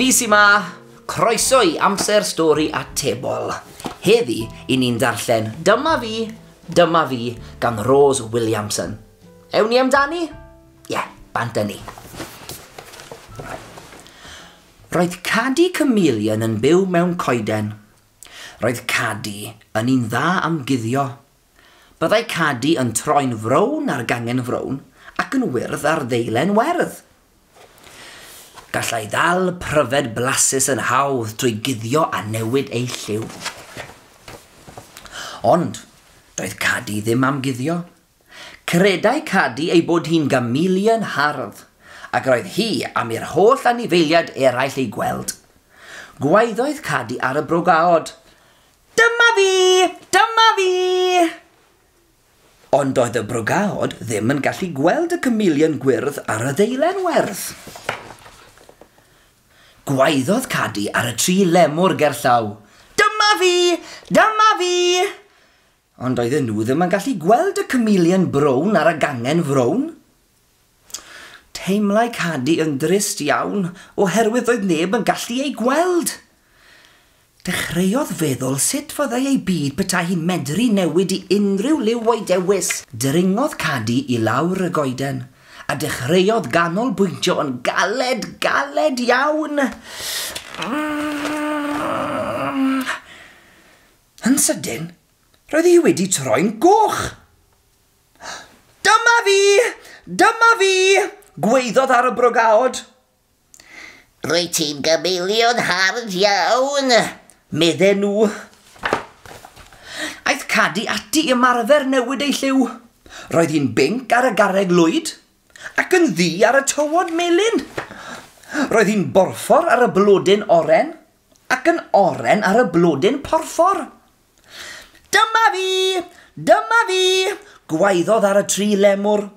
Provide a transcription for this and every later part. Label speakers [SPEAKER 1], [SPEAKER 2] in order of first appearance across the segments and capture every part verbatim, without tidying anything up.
[SPEAKER 1] Fi sy 'ma, croeso i Amser Stori Atebol. Heddi, i ni'n darllen Dyma Fi, Dyma Fi gan Rose Williamson. Ewn ni amdani? Ie, yeah, bant â ni. Roedd Cadi Chameleon yn byw mewn coeden. Roedd Cadi yn un dda am guddio. Byddai Cadi yn troi'n frown ar gangen frown ac yn wyrdd ar ddeilen werdd. Gallai ddal pryfed blasus yn hawdd trwy guddio a newid ei lliw. Ond doedd Cadi ddim am guddio. Credai Cadi ei bod hi'n gamelion hardd, ac roedd hi am i'r holl anifeiliaid eraill ei gweld. Gwaeddodd Cadi ar y brogaod. Dyma fi! Dyma fi! Ond doedd y brogaod ddim yn gallu gweld y chameleon gwyrdd ar y ddeilen werdd. Gwaeddodd Cadi ar y tri lemwr gerllaw. Dyma fi! Dyma fi! Ond oedden nhw ddim yn gallu gweld y chameleon brown ar y gangen frown. Teimlai Cadi yn drist iawn oherwydd oedd neb yn gallu ei gweld. Dechreuodd feddwl sut fyddai ei byd petai hi'n medru newid i unrhyw liw o'i dewis. Dringodd Cadi i lawr y goeden a dechreuodd ganolbwyntio yn galed, galed iawn. Yn sydyn, roedd hi wedi troi'n goch. Dyma fi! Dyma fi! Gwaeddodd ar y brogaod.
[SPEAKER 2] Rwyt ti'n gamelion hardd iawn,
[SPEAKER 1] medden nhw. Aeth Cadi ati i ymarfer newid ei lliw. Roedd hi'n binc ar y garreg lwyd ac yn ddu ar y tywod melyn. Roedd hi'n borffor ar y blodyn oren ac yn oren ar y blodyn porffor. Dyma fi! Dyma fi! Gwaeddodd ar y tri lemwr.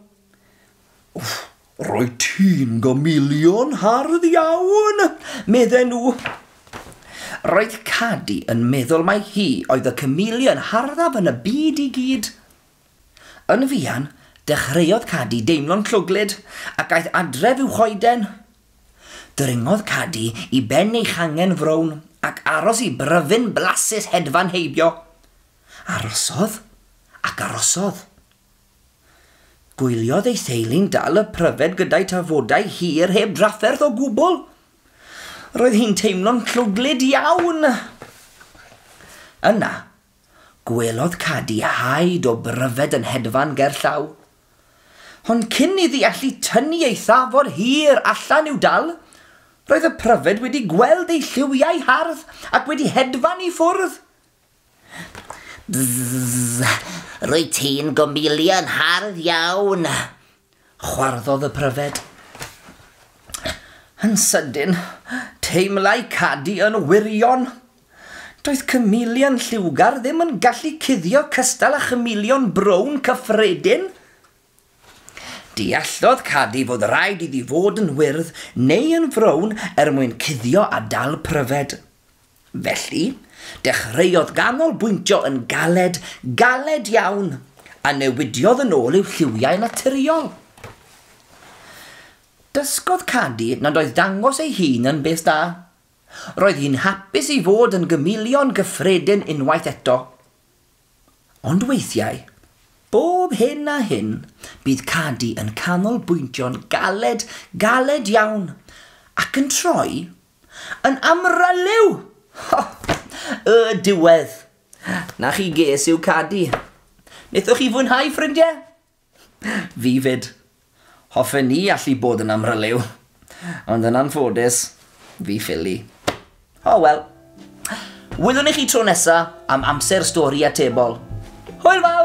[SPEAKER 1] Rwyt ti'n gamelion hardd iawn, medden nhw. Roedd Cadi yn meddwl mai hi oedd y chameleon harddaf yn y byd i gyd. Yn fuan, dechreuodd Cadi deimlo'n llwglyd ac aeth adref i'w choeden. Dringodd Cadi i ben ei changen frown ac aros i bryfyn blasus hedfan heibio. Arosodd ac arosodd. Gwyliodd ei theulu'n dal y pryfed gyda'i tafodau hir heb drafferth o gwbl. Roedd hi'n teimlo'n llwglyd iawn. Yna, gwelodd Cadi haid o bryfed yn hedfan gerllaw. Ond cyn iddi allu tynnu ei thafod hir allan i'w dal, roedd y pryfed wedi gweld ei lliwiau hardd ac wedi hedfan i ffwrdd.
[SPEAKER 2] Bzzz, rwyt ti'n gamelion hardd iawn,
[SPEAKER 1] chwarddodd y pryfed. Yn sydyn, teimlai Cadi yn wirion. Doedd chameleon lliwgar ddim yn gallu cuddio cystal â chameleon brown cyffredin. Deallodd Cadi fod rhaid iddi fod yn wyrdd neu yn frown er mwyn cuddio a dal pryfed. Felly, dechreuodd ganolbwyntio yn galed, galed iawn, a newidiodd yn ôl i'w lliwiau naturiol. Dysgodd Cadi nad oedd dangos ei hun yn beth da. Roedd hi'n hapus i fod yn gamelion gyffredin unwaith eto. Ond weithiau, bob hyn a hyn, bydd Cadi yn canolbwyntio'n galed, galed iawn, ac yn troi yn amryliw. Y diwedd. Na chi ges yw Cadi. Wnaethoch chi fwynhau, ffrindiau? Fi fyd. Hoffen ni allu bod yn amryliw. Ond yn anffodus, fi ffili. O wel. Welwn i chi tro nesa am Amser Stori Atebol. Hwyl fawr!